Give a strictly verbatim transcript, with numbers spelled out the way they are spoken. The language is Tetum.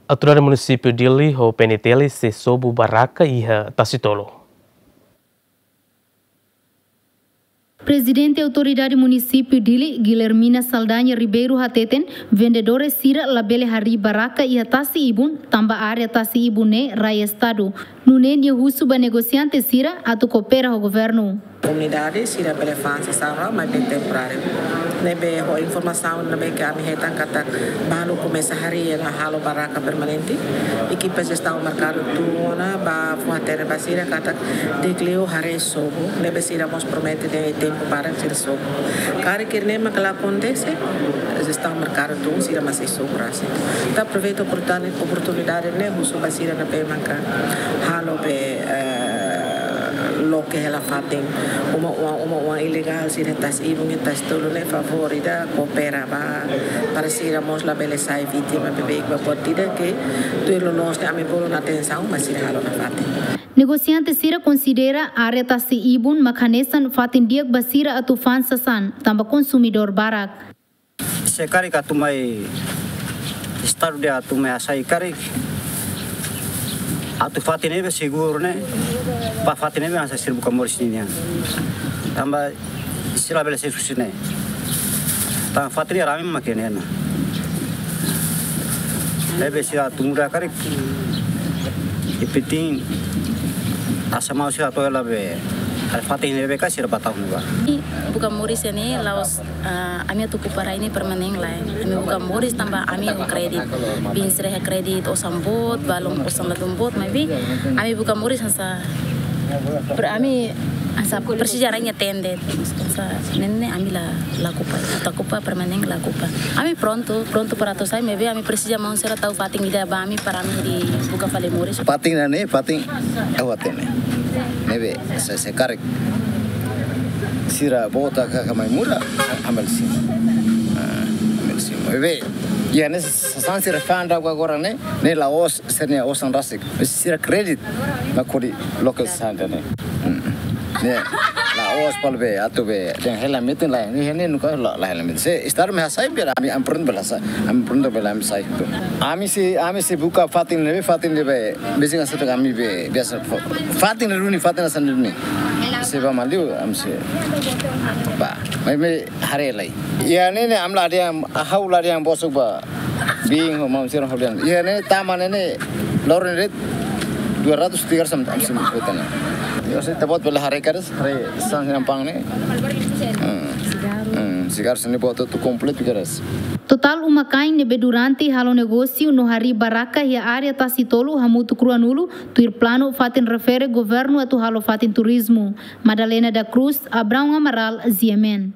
Autoridade Munisípiu Dili ho P N T L sei sobu barraka iha Tasi Tolu. Prezidente Autoridade Munisípiu Dili, Guilhermina Saldanha Ribeiro hateten, vendedores sira labele harii barraka iha tasi ibun, tanba área tasi ibun ne'e rai Estadu. Nune'e nia husu ba negosiante sira atu koopera ho governu. Komunidade sira bele fa'an sasán, maibé temporáriu. Ne'ebé ho informasaun ne'ebé ke ami hetan katak balu komesa harii no halo barraka permanente. Ekipa jestaun merkadu tun ona bá fó hatene ba sira katak di'ak liu haree sobu. Ne'ebé sira mós promete dehan tempu badak sira sobu. Karik ne'e mak la akontese, jestaun merkadu tun sira mós sei sobu rasik. Ita aproveita oportuni-, oportunidade ne'e husu ba sira ne'ebé maka halo be, eh, loke hela fatin uma-oan, uma-oan ilegál sira iha Tasi Ibun, iha Tasi Tolu ne'e, favór ida koopera ba, para sira mós labele sai vítima beibeik ba, buat ida ke tuir loloos ne'e ami bolu ona atensaun, mas sira halo nafatin. Negosiante sira konsidera área Tasi Ibun mak hanesan fatin di'ak ba sira atu fa'an sasán, tanba konsumidór barak. Se karik atu mai Estadu dehan atu mai hasai karik, atu fatin ne'ebé seguru ne'e, ba fatin ne'ebé hanesan sira buka moris ninian. Tanba sira labele sai husi ne'e. Tanba fatin ne'e rame mak ne'e ona. Ne'ebé sira atu muda karik, ipitin asa mau sira atu hela be, halo fatin ne'ebé ka sira bá tau ne'ebá. Buka moris ne'e la'ós, ah, ami atu kupa rai ne'e permanen lae. Ami buka moris tanba ami ho kredit. Bin sira iha kredit osan boot, balun osan ladún boot, maibé ami buka moris hanesan per-, ami hanesan presiza rai nia tende. Hanesan ne'e ne'e ami la, la kupa. Atu kupa permanen la kupa. Ami prontu, prontu para atu sai, maibé ami presiza maun sira tau fatin ida ba ami para ami hodi buka fali moris. Fatin ne'e, fatin, eh, fatin ne'e. Ne'ebé, se, se karik sira bota ka, ka mai muda, ami bele simu. Ah, ami bele simu. Ne'ebé, iha ne'e sasán sira fa'an daudaun agora ne'e, ne'e la'ós sira-nia osan rasik. Sira kredit, mak hodi loke sasán ne'e. Hmm. Ne'e, la'ós para be, atu be, dehan hela metin lae, ne'e, ne'e nunka la, la hela metin. Se Estadu mak hasai be, ami, ami prontu bele hasai, ami prontu bele ami sai. Ami-nia, ami-nia buka fatin ne'ebé, fatin ne'ebé, besik hanesan ami be, biasa, fatin ne'e duni, fatin hanesan duni. Se bá maliu, ami sei bá. Maibé haree lai. Iha ne'e ne'e ami la dehan, ha'u la dehan bosok ba. Bin ho maun sira ha'u dehan. Iha ne'e tama ne'e ne'e, loron ne'e dua ratus tiga ratus am, am sim kota ne'e. Yo sei ita-boot bele haree karik, haree sasán sira-nia pang ne'e. Hmm. Hmm, sigaru sira-ne'e buat hotu kompletu karik. Totál uma-kain ne'ebé durante halo negósiu no harii barraka iha área Tasi Tolu hamutuk ruanulu, tuir planu fatin refere governu atu halo fatin turizmu. Madalena da Cruz, Abraão Amaral, G M N.